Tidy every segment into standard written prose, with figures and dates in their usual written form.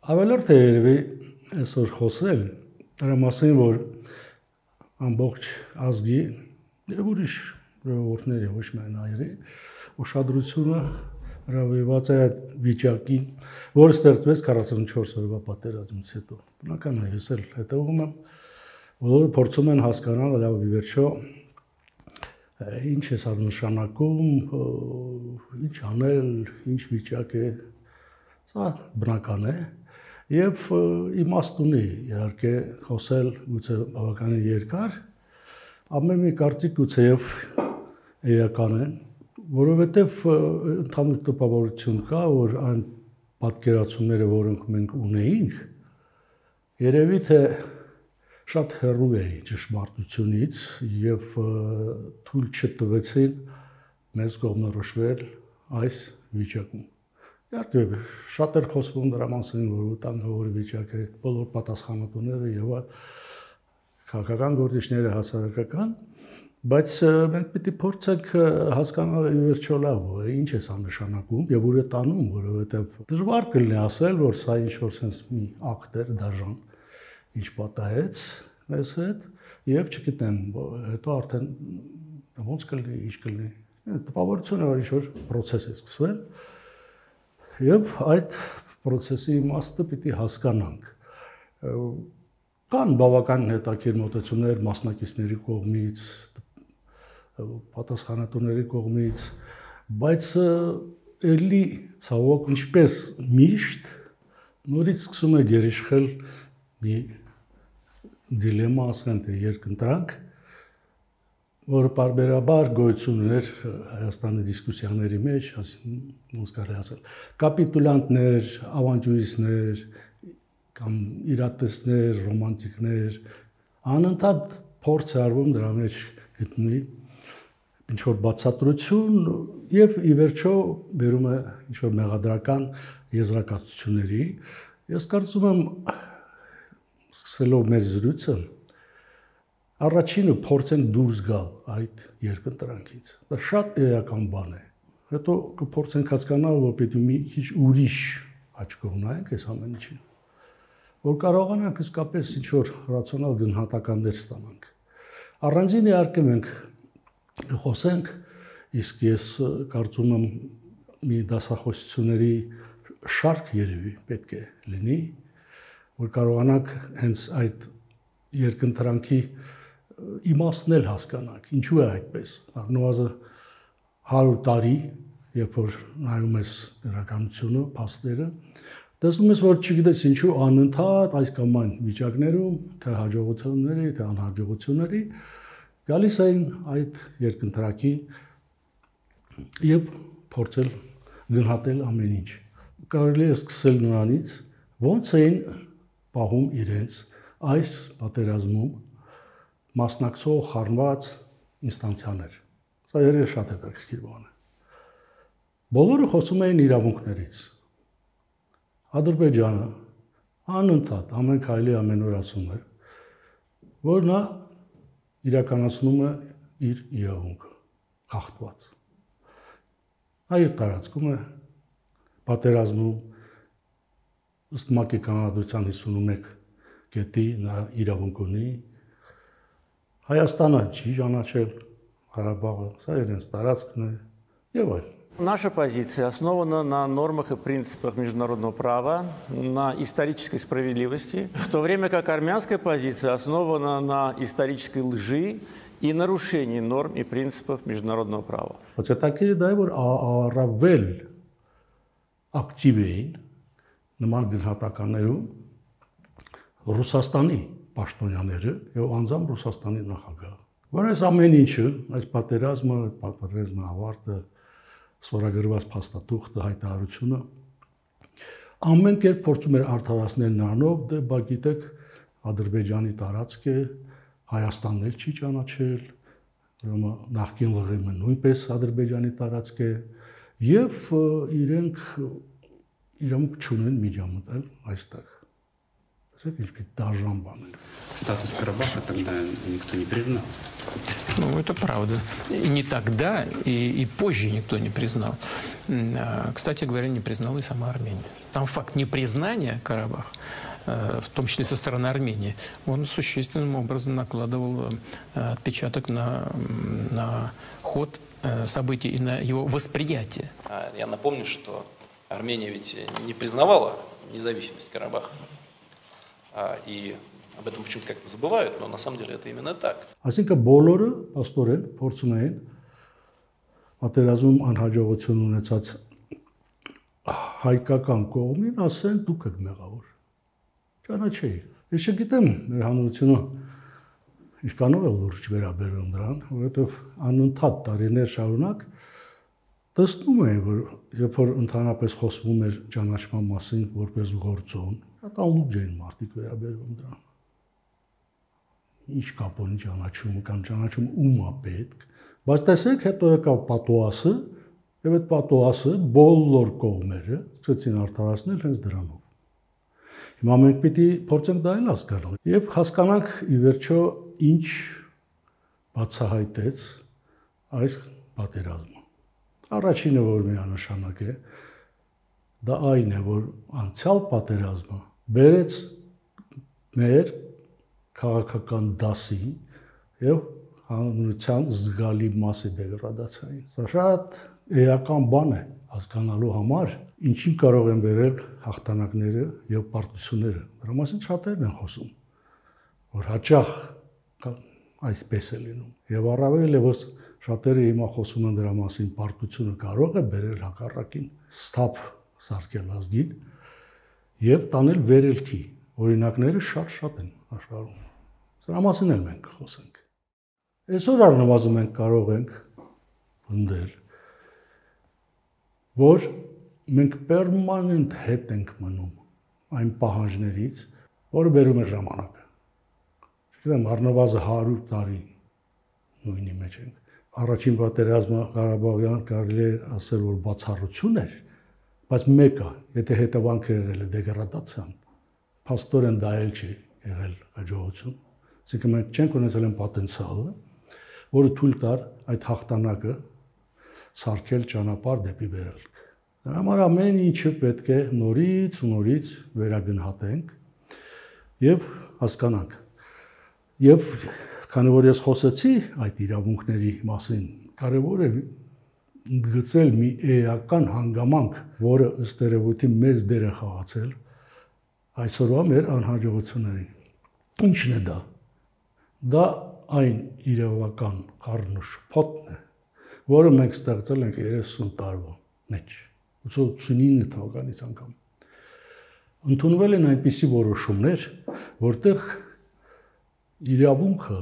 Ավելորդ է երևի այսօր խոսել դրա մասին, որ ամբողջ ազգի եւ ուրիշ ժողովուրդների, ոչ միայն հայերի, ուշադրությունը հրավիրված է այդ վիճակին, որը ստեղծվեց 44 օրվա պատերազմից հետո։ Բնական է, ես էլ հետևում եմ, բոլորը փորձում են հասկանալ, լավ ի վերջո ինչ է սա նշանակում, ինչ անել, ինչ վիճակ է, սա բնական է եւ իմաստ ունի իհարկե խոսել գուցե բավականին երկար, ամեն մի կարծիք գուցեև էական է, որովհետեւ ընդհանուր տպավորություն կա, որ այն պատկերացումները, որոնք մենք ունեինք, երևի թե շատ հեռու էին ճշմարտությունից եւ թույլ չտվեցին մեզ կողմնորոշվել այս վիճակում։ Իհարկե, շատ էր խոսվում դրա մասին, որ վտանգավոր վիճակ է, բոլոր պատասխանատուները եւ քաղաքական գործիչները, հասարակական, բայց մենք պիտի փորձենք հասկանալ ի վերջո լավ, ինչ է սա նշանակում եւ ուր է տանում, որովհետեւ դժվար կլինի ասել, որ սա ինչ-որ sense մի ակտ էր դաժան, ինչ պատահեց մեզ հետ եւ չգիտեմ, հետո արդեն ոնց կլինի, ինչ կլինի։ Տպավորությունը որ ինչ-որ process է սկսվել եւ այդ process-ի իմաստը պիտի հասկանանք։ Կան բավական հետաքրքիր մոտեցումներ մասնակիցների կողմից, պատասխանատուների կողմից, բայց էլի ցավոք ինչպես միշտ նորից սկսում է գերիշխել մի դիլեմա, ասենք թե երկընտրանք, որը պարբերաբար գոյություն ուներ Հայաստանի դիսկուսիաների մեջ, ոնց կարելի ասել, կապիտուլյանտներ, ավանտյուրիստներ կամ իրատեսներ, ռոմանտիկներ, անընդհատ փորձ է արվում դրա մեջ գտնի ինչ-որ բացատրություն եւ ի վերջո բերում է ինչ-որ մեղադրական եզրակացությունների։ Ես կարծում եմ, սկսելով մեր զրույցը, առաջինը փորձենք դուրս գալ այդ երկընտրանքից։ Դա շատ էական բան է։ Հետո կփորձենք հասկանալ, որ պետք է մի քիչ ուրիշ աչքով նայենք այս ամեն ինչին, որ կարողանանք իսկապես ինչ-որ ռացիոնալ գնահատականներ ստանանք։ Առանձին իհարկե մենք խոսենք, իսկ ես կարծում եմ մի դասախոսությունների շարք երևի պետք է լինի, որ կարողանանք հենց այդ երկընտրանքի իմաստն էլ հասկանանք, ինչու է այդպես։ Առնվազն 100 տարի, երբ որ նայում ես իրականությունը, փաստերը, տեսնում ես, որ չգիտես ինչու անընդհատ այս կամ այն վիճակներում, թե հաջողությունների, թե անհաջողությունների գալիս էին այդ երկընտրանքի եւ փորձել գնահատել ամեն ինչ։ Կարելի է սկսել նրանից, ոնց էին պահում իրենց այս պատերազմում մասնակցող խառնված ինստանցիաներ։ Սա երևի շատ հետաքրքիր բան է։ Բոլորը խոսում էին իրավունքներից։ Ադրբեջանը անընդհատ ամեն քայլի ամեն օր ասում էր, որ նա իրականացնում է իր իրավունքը, խախտված։ Նա իր տարածքում է պատերազմում ըստ ՄԱԿ-ի կանոնադրության 51 կետի նա իրավունք ունի։ Հայաստանը չի ճանաչել Ղարաբաղը, սա իրենց տարածքն է եւ այլն։ Наша позиция основана на нормах и принципах международного права, на исторической справедливости, в то время как армянская позиция основана на исторической лжи и нарушении норм и принципов международного права. Բայց հետաքրքիրը դա է, որ առավել ակտիվ էին նման գնահատականներում Ռուսաստանի պաշտոնյաները եւ անձամբ Ռուսաստանի նախագահը, որ այս ամեն ինչը, այս պատերազմի ավարտը, ստորագրված փաստաթուղթը, հայտարարությունը ամեն կերպ փորձում էր արդարացնել նրանով, դե բա գիտեք, Ադրբեջանի տարածք է, Հայաստանն էլ չի ճանաչել, ուրեմն նախկին ԼՂՄ-ը նույնպես Ադրբեջանի տարածք է եւ իրենք իրենք չունեն միջամտել այստեղ։ Статус Карабаха тогда никто не признал. Ну, это правда. И не тогда, и позже никто не признал. Кстати говоря, не признала и сама Армения. Там факт непризнания Карабаха, в том числе со стороны Армении, он существенным образом накладывал отпечаток на ход событий и на его восприятие. Я напомню, что Армения ведь не признавала независимость Карабаха. И об этом почему-то как-то забывают, но на самом деле это именно так. Այսինքն բոլորը աստորեն փորձում էին պատերազմում անհաջողություն ունեցած հայկական կողմին ասեն դուք եք մեղավոր։ Ճանաչեի։ Ես չգիտեմ մեր հանրությունը ինչքանով է լուրջ վերաբերվում դրան, որովհետև անընդհատ տարիներ շարունակ տեսնում էին, որ երբ որ ընդհանրապես խոսվում էր ճանաչման մասին որպես գործոն, անլուրջ էին մարդիկ վերաբերվում դրան։ Ինչ կապ ունի ճանաչումը կամ ճանաչումը ում է պետք, բայց տեսեք հետո եկավ պատուասը, եւ այդ պատուասը բոլոր կողմերը ցույցին արդարացնել հենց դրանով։ Հիմա մենք պիտի փորձենք դա էլ հասկանալ եւ հասկանանք ի վերջո ինչ բացահայտեց այս պատերազմը։ Առաջինը, որ միանշանակ է, դա այն է, որ անցյալ պատերազմը բերեց մեր քաղաքական դասի եւ հանրության զգալի մասի դեգրադացիային։ Սա շատ էական բան է հասկանալու համար, ինչին կարող են վերել հաղթանակները եւ պարտությունները։ Դրա մասին շատերն են խոսում, որ հաճախ այսպես է լինում։ Եվ առավել եւս շատերը հիմա խոսում են դրա մասին, պարտությունը կարող է բերել հակառակին, ստապ սարքել ազգին եւ տանել վերելքի։ Օրինակները շատ են աշխարհում։ Սրա մասին էլ մենք խոսենք։ Այսօր առնվազն մենք կարող ենք ընդդել, որ մենք պերմանենտ հետ ենք մնում այն պահանջներից, որը բերում է ժամանակը։ Չգիտեմ, առնվազն 100 տարի նույնի մեջ ենք։ Առաջին պատերազմը Ղարաբաղյան կարելի է ասել, որ բացառություն էր, բայց մեկը, եթե հետևանքը եղել է դեգրադացիան, փաստորեն դա էլ չի եղել հաջողություն։ Այսինքն մենք չենք ունեցել այն պոտենցիալը, որը թույլ տար այդ հաղթանակը սարքել ճանապարհ դեպի վերելք։ Դրա համար ամեն ինչը պետք է նորից վերագնահատենք եւ հասկանանք։ Եվ քանի որ ես խոսեցի այդ իրավունքների մասին, կարևոր է գծել մի էական հանգամանք, որը ըստ երևույթի մեծ դեր է խաղացել այսօրվա մեր անհաջողություններին։ Ինչն է դա։ Դա այն իրավական խառնաշփոթն է, որը մենք ստեղծել ենք 30 տարվա մեջ, 89 թվականից անգամ։ Ընդունվել են այնպիսի որոշումներ, որտեղ իրավունքը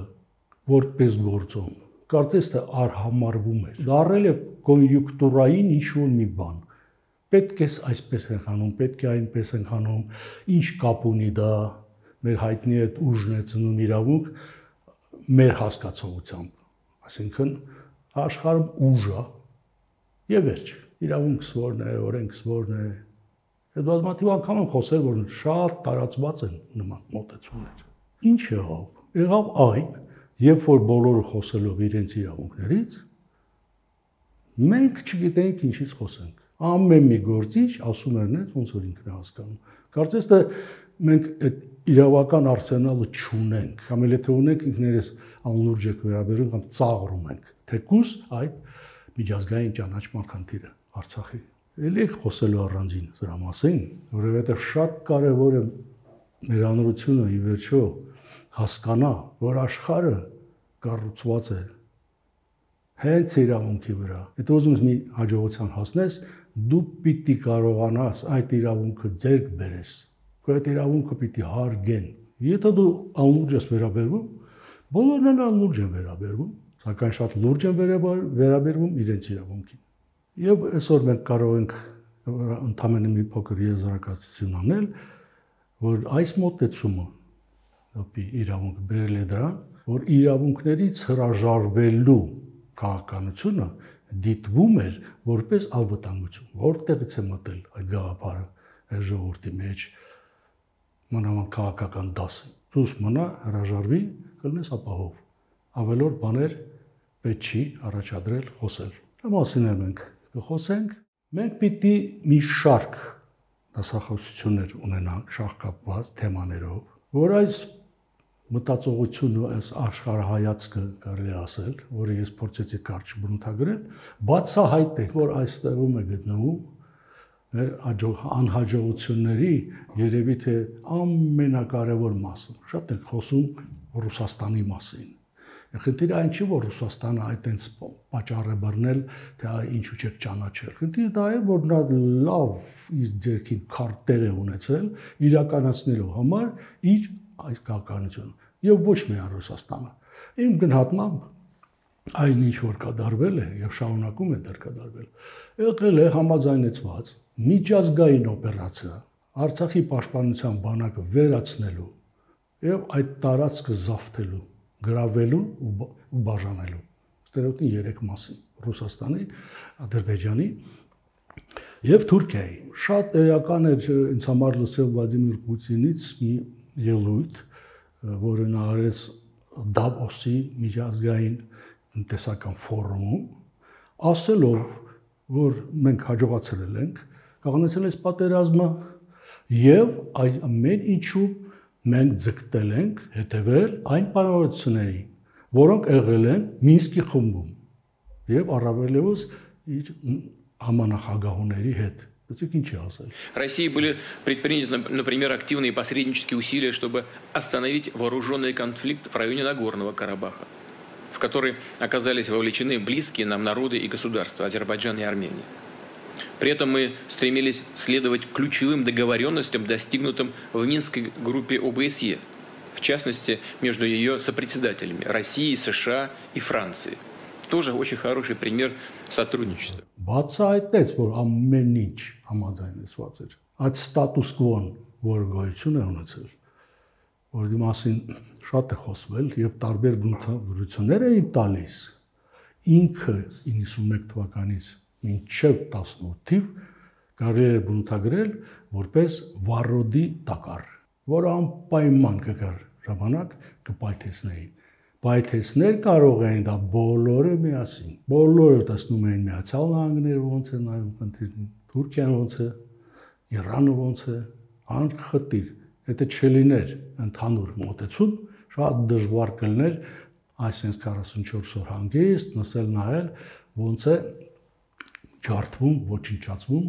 որպես գործոն կարծես թե արհամարվում էր։ Դառել է կոնյունկտուրային ինչ-որ մի բան։ Պետք է այսպես ենք անում, պետք է այնպես ենք անում, ինչ կապ ունի դա մեր հայտնի այդ ուժն է ծնում իրավունք մեր հասկացողությամբ, այսինքն աշխարհում ուժ է եւ վերջ, իրավունքս որն է, օրենքս որն է։ Այդ բազմաթիվ անգամ եմ խոսել, որ շատ տարածված են նման մոտեցումներ։ Ինչ եղավ։ Եղավ այն, երբ որ բոլորը խոսելով իրենց իրավունքներից, մենք չգիտենք ինչից խոսենք։ Ամեն մի գործիչ ասում էր նենց ոնց որ ինքն է հասկանում։ Կարծես թե մենք այդ իրավական արսենալը չունենք, կամ էլ եթե ունենք ինքներս անլուրջ եք վերաբերում կամ ծաղրում ենք, թեկուզ այդ միջազգային ճանաչման խնդիրը Արցախի։ Էլի եք խոսելու առանձին դրա մասին, որովհետև շատ կարևոր է մեր հանրությունը ի վերջո հասկանա, որ աշխարհը կառուցված է հենց իրավունքի վրա։ Եթե ուզում ես մի հաջողության հասնես, դու պիտի կարողանաս այդ իրավունքը ձեռք բերես։ Այդ իրավունքը պիտի հարգեն։ Եթե դու անլուրջ ես վերաբերվում, բոլորն են անլուրջ են վերաբերվում, սակայն շատ լուրջ են վերաբերվում իրենց իրավունքին։ Եվ այսօր մենք կարող ենք ընդհանրապես մի փոքր եզրակացություն անել, որ այս մոտեցումը իրավունք բերել է դրան, որ իրավունքներից հրաժարվելու քաղաքականությունը դիտվում էր որպես անվտանգություն։ Որտեղից է մտել այդ գաղափարը այս ժողովրդի մեջ։ մանավանդ քաղաքական դասը։ Դուս մնա հրաժարվի, կլնես ապահով։ Ավելորդ բաներ պետք չի առաջադրել խոսել։ Դա մասին էլ մենք կխոսենք։ Մենք պիտի մի շարք դասախոսություններ ունենանք շահկապված թեմաներով, որ այս մտածողությունը, այս աշխարհայացքը կարելի ասել, որը ես փորձեցի կարճ բնութագրել, բացահայտ է, որ այստեղում է գտնվում մեր անհաջողությունների երևի թե ամենակարևոր մասը։ Շատ ենք խոսում Ռուսաստանի մասին։ Խնդիրը այն չի, որ Ռուսաստանը այդտենց պատճառ է բռնել, թե ինչու չեք ճանաչել։ Խնդիրը դա է, որ նա լավ իր ձեռքին քարտեր է ունեցել իրականացնելու համար իր այս քաղաքականությունը եւ ոչ միայն Ռուսաստանը։ Իմ գնահատմամբ այն ինչ որ կատարվել է եւ շարունակում է դեռ կատարվել, եղել է համաձայնեցված միջազգային օպերացիա Արցախի պաշտպանության բանակը վերացնելու եւ այդ տարածքը զավթելու, գրավելու ու բաժանելու։ Ստերոոտին 3 մասի՝ Ռուսաստանի, Ադրբեջանի եւ Թուրքիայի։ Շատ էական էր ինձ համար լսել Վլադիմիր Պուտինից մի ելույթ, որը նա արեց Դավոսի միջազգային տնտեսական ֆորումում, ասելով, որ մենք հաջողացել ենք կողմեցել այս պատերազմը եւ այս ամեն ինչու մենք ձգտել ենք հետևել այն պայմանավորություններին, որոնք եղել են Մինսկի խմբում եւ առավելևս իր համանախագահուների հետ։ В России были предприняты, например, активные посреднические усилия, чтобы остановить вооруженный конфликт в районе Нагорного Карабаха, в который оказались вовлечены близкие нам народы и государства Азербайджан и Армения. При этом мы стремились следовать ключевым договоренностям, достигнутым в Минской группе ОБСЕ, в частности, между ее сопредседателями России, США и Франции. Тоже очень хороший пример сотрудничества. Բացահայտեց, որ ամեն ինչ համաձայնեցված էր։ Այդ ստատուս կվոն, որ գոյություն է ունեցել, որի մասին շատ է խոսվել եւ տարբեր բնութագրություններ էին տալիս, ինքը 91 թվականից մինչև 18 թիվ կարելի է բնութագրել որպես վառոդի տակառ, որը անպայման կգար ժամանակ կպայթեցնեին։ Պայթեցներ կարող էին դա բոլորը միասին։ Բոլորը տեսնում էին Միացյալ Նահանգները ոնց է նայում խնդիրին, Թուրքիան ոնց է, Իրանը ոնց է, անխտիր։ Եթե չլիներ ընդհանուր մոտեցում, շատ դժվար կլիներ այսպես 44 օր հանգիստ նսել նայել ոնց է ջարդվում, ոչնչացվում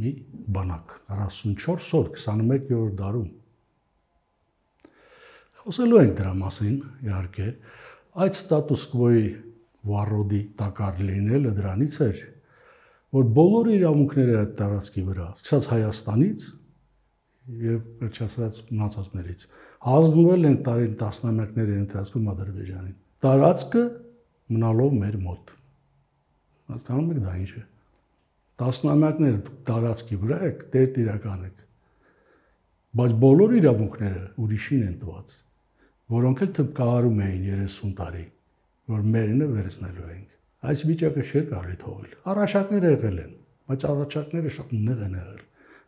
մի բանակ 44 օր 21-րդ դարում։ Խոսելու ենք դրա մասին, իհարկե, այդ ստատուս կվոյի վառոդի տակառ լինելը դրանից էր, որ բոլոր իրավունքները այդ տարածքի վրա, սկսած Հայաստանից եւ վերջացած մնացածներից, հանձնվել են տարին տասնամյակների ընթացքում Ադրբեջանին։ Տարածքը մնալով մեր մոտ։ Հասկանում եք դա ինչ է։ Տասնամյակներ տարածքի վրա եք, տերտիրական եք։ Բայց բոլոր իրավունքները ուրիշին են տված, որոնք էլ թվկահարում էին 30 տարի, որ մերինը վերցնելու ենք։ Այս վիճակը չէ կարելի թողել։ Առաջարկներ եղել են, բայց առաջարկները շատ նեղ են եղել։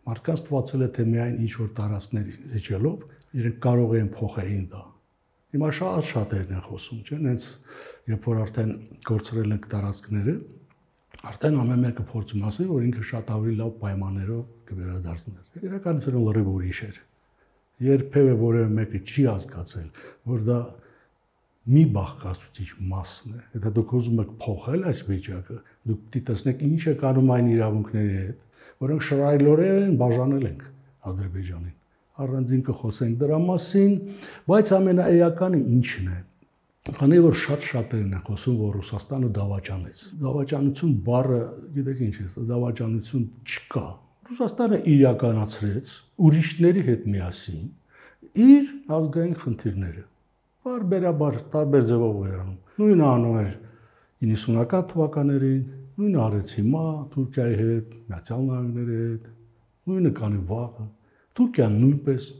Մարդկանց թվացել է, թե միայն ինչ-որ տարածքներ զիջելով իրենք կարող են փոխեին դա։ Հիմա շատերն են խոսում, չէ՞, հենց երբ որ արդեն կորցրել ենք տարածքները, արդեն ամեն մեկը փորձում ասել, որ ինքը շատ ավելի լավ պայմաններով կվերադարձներ։ Իրականությունը լրիվ ուրիշ էր։ Երբևէ որևէ մեկը չի հասկացել, որ դա մի բաղկացուցիչ մասն է։ Եթե դուք ուզում եք փոխել այս վիճակը, դուք պիտի տեսնեք ինչ է կանում այն իրավունքների հետ, որոնք շռայլորեն բաժանել ենք Ադրբեջանին։ Առանձին կխոսենք դրա մասին, բայց ամենաէականը ինչն է։ Քանի որ շատ-շատերն են խոսում, որ Ռուսաստանը դավաճանեց։ Դավաճանություն բառը, գիտեք ինչ է, դավաճանություն չկա։ Ռուսաստանը իրականացրեց ուրիշների հետ միասին իր ազգային խնդիրները։ Բարբերաբար տարբեր ձևով վերանում։ Նույնը անում էր 90-ական թվականներին, նույնը արեց հիմա Թուրքիայի հետ, Միացյալ Նահանգների հետ, նույնը կանի վաղը։ Թուրքիան նույնպես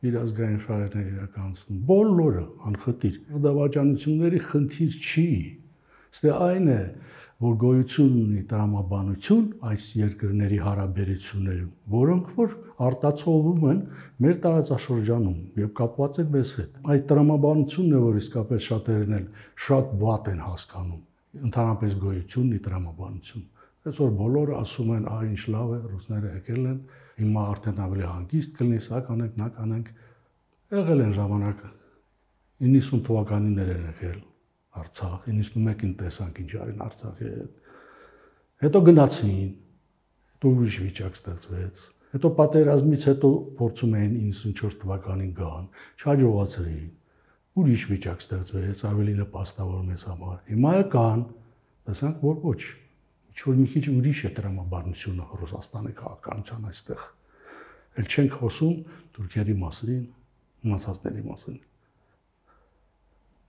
իր ազգային շահերները իրականացնում։ Բոլորը անխտիր։ Դավաճանությունների խնդիր չի։ Ստե այն է, որ գոյություն ունի տրամաբանություն այս երկրների հարաբերություններում, որոնք որ արտացոլվում են մեր տարածաշրջանում եւ կապված են մեզ հետ։ Այդ տրամաբանությունն է, որ իսկապես շատերն էլ շատ վատ են հասկանում։ Ընդհանրապես գոյություն ունի տրամաբանություն։ Այսօր բոլորը ասում են, ինչ լավ է, ռուսները եկել են, հիմա արդեն ավելի հանգիստ կլինի, սա կանենք, նա կանենք։ Եղել են ժամանակը 90 թվականիներ են եկել Արցախ, 91-ին տեսանք ինչ արին Արցախի հետ։ Հետո գնացին, հետո ուրիշ վիճակ ստեղծվեց։ Հետո պատերազմից հետո փորձում էին 94 թվականին գան, չհաջողացրին։ Ուրիշ վիճակ ստեղծվեց, ավելի նպաստավոր մեզ համար։ Հիմա կան, տեսանք, որ ոչ։ Ինչ-որ մի քիչ ուրիշ է տրամաբանությունը Ռուսաստանի քաղաքականության այստեղ։ Էլ չենք խոսում թուրքերի մասին, մնացածների մասին։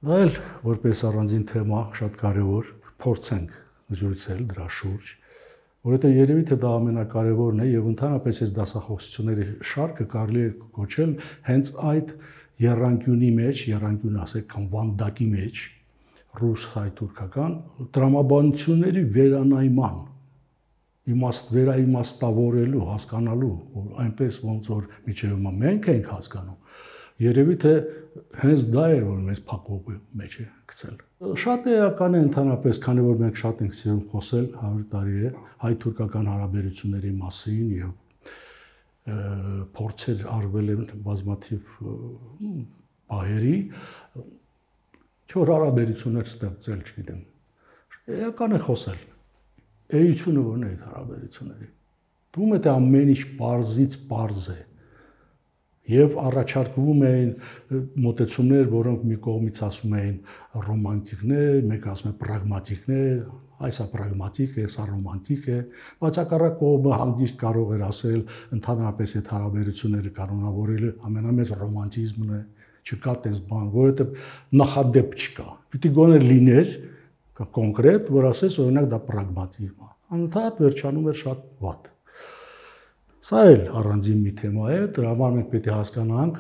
Դա էլ որպես առանձին թեմա շատ կարևոր փորձենք զրուցել դրա շուրջ, որովհետեւ երևի թե դա ամենակարևորն է եւ ընդհանրապես այս դասախոսությունների շարքը կարելի է կոչել հենց այդ եռանկյունի մեջ, եռանկյուն ասեք կամ վանդակի մեջ ռուս-հայ-թուրքական տրամաբանությունների վերանայման վերաիմաստավորելու, հասկանալու, այնպես ոնց որ միջև հիմա մենք ենք հասկանում, երևի թե հենց դա էր, որ մեզ փակողի մեջ է գցել։ Շատ էական է ընդհանրապես, քանի որ մենք շատ ենք սիրում խոսել 100 տարի է հայ-թուրքական հարաբերությունների մասին եւ փորձեր արվել են բազմաթիվ պահերի, չոր հարաբերություններ ստեղծել, չգիտեմ։ Էական է խոսել։ Էությունը որն է այդ հարաբերությունների։ Թվում է թե ամեն ինչ պարզից պարզ է։ Եվ առաջարկվում էին մոտեցումներ, որոնք մի կողմից ասում էին ռոմանտիկներ, մեկ ասում է պրագմատիկներ, այսա պրագմատիկ է, սա ռոմանտիկ է, բայց հակառակ կողմը հանգիստ կարող էր ասել ընդհանրապես այդ հարաբերությունները կանոնավորելը ամենամեծ ռոմանտիզմն է, չկա տես բան, որովհետև նախադեպ չկա։ Պիտի գոնե լիներ կոնկրետ, որ ասես օրինակ դա պրագմատիզմ է։ Անընդհատ վերջանում էր շատ վատ։ Սա էլ առանձին մի թեմա է, դրա համար մենք պետք է հասկանանք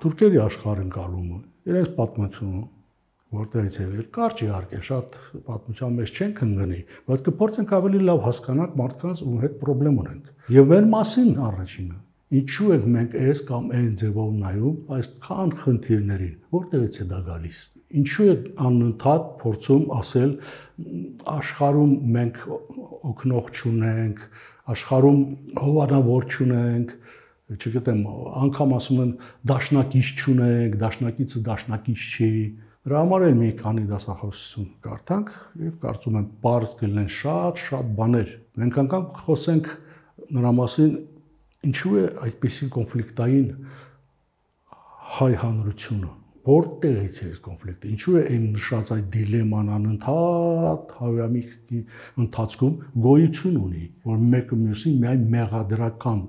թուրքերի աշխարհընկալումը, իրենց պատմությունը, որտեղից է եկել, կարճ իհարկե, շատ պատմության մեջ չենք ընկնի, բայց կփորձենք ավելի լավ հասկանալ մարդկանց ու հետ խնդրեմ ունենք։ Եվ մեր մասին առաջինը, ինչու ենք մենք այս կամ այն ձևով նայում այսքան խնդիրներին, որտեղից է դա գալիս։ Ինչու է անընդհատ փորձում ասել աշխարհում մենք օգնող չունենք, աշխարհում հովանավոր չունենք, չգիտեմ, անգամ ասում են դաշնակից չունենք, դաշնակիցը դաշնակից չի։ Դրա համար էլ մի քանի դասախոսություն կարդանք եւ կարծում եմ բարձ կլինեն շատ բաներ։ Մենք անգամ խոսենք նրա մասին, ինչու է այդպիսի կոնֆլիկտային հայ հանրությունը, որտեղից է այս կոնֆլիկտը, ինչու է այն նշած այդ դիլեման անընդհատ հարյուրամյակի ընթացքում գոյություն ունի, որ մեկը մյուսին միայն մեղադրական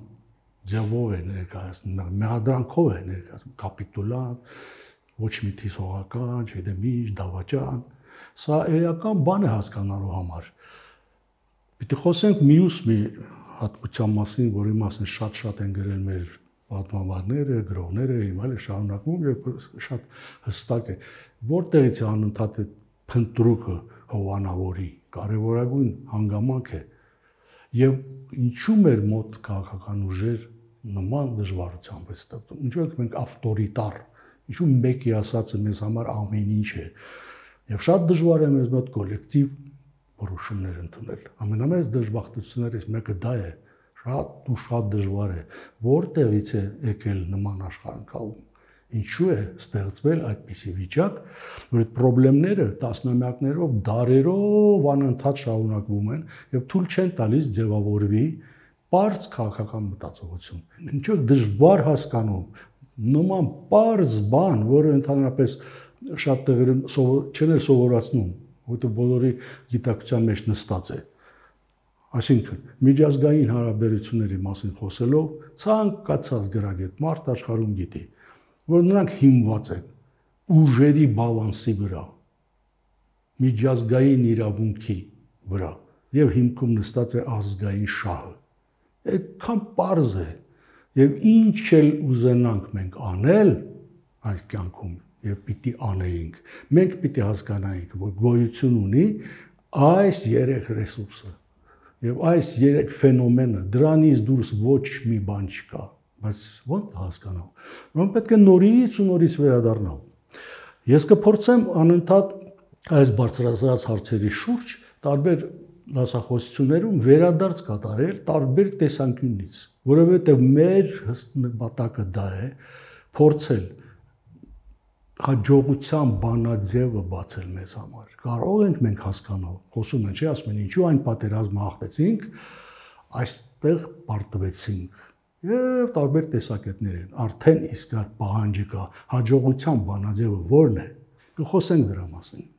ձևով է ներկայացնում, մեղադրանքով է ներկայացնում, կապիտուլան, ոչ մի թիսողական, չգիտեմ ինչ, դավաճան, սա էական բան է հասկանալու համար։ Պիտի խոսենք մյուս մի հատկության մասին, որի մասին շատ են գրել մեր պատմաբանները, գրողները, հիմա էլ շարունակվում եւ շատ հստակ է, որտեղից է անընդհատ այդ փնտրուկը հովանավորի կարևորագույն հանգամանք է եւ ինչու մեր մոտ քաղաքական ուժեր նման դժվարությամբ է ստեղծում, ինչու ենք մենք ավտորիտար, ինչու մեկի ասածը մեզ համար ամեն ինչ է եւ շատ դժվար է մեզ մոտ կոլեկտիվ որոշումներ ընդունել։ Ամենամեծ դժբախտություններից մեկը դա է, շատ դժվար է, որտեղից է եկել նման աշխարհընկալում, ինչու է ստեղծվել այդպիսի վիճակ, որ այդ խնդիրները տասնամյակներով, դարերով անընդհատ շարունակվում են եւ թույլ չեն տալիս ձևավորվի բարձ քաղաքական մտածողություն։ Ինչու դժվար հասկանում նման բարձ բան, որը ընդհանրապես շատ տեղերում չեն սովորացնում, որտեղ բոլորի գիտակցության մեջ նստած է։ Այսինքն, միջազգային հարաբերությունների մասին խոսելով, ցանկացած գրագետ մարդ աշխարհում գիտի, որ նրանք հիմնված են ուժերի բալանսի վրա, միջազգային իրավունքի վրա, եւ հիմքում նստած է ազգային շահը։ Այդքան պարզ է, եւ ինչ էլ ուզենանք մենք անել այս կյանքում, եւ պիտի անեինք, մենք պիտի հասկանայինք, որ գոյություն ունի այս երեք ռեսուրսը եւ այս երեք ֆենոմենը դրանից դուրս ոչ մի բան չկա, բայց ո՞նց հասկանալ։ Ուրեմն պետք է նորից ու նորից վերադառնալ։ Ես կփորձեմ անընդհատ այս բարձրացած հարցերի շուրջ տարբեր դասախոսություններում վերադարձ կատարել տարբեր տեսանկյունից, որովհետեւ մեր նպատակը դա է փորձել հաջողության բանաձևը բացել մեզ համար։ Կարող ենք մենք հասկանալ, խոսում են, չի ասում են, ինչու այն պատերազմը հաղթեցինք, այստեղ պարտվեցինք։ Եվ տարբեր տեսակետներ են, արդեն իսկ պահանջի կա, հաջողության բանաձևը ո՞րն է։ Կխոսենք դրա մասին։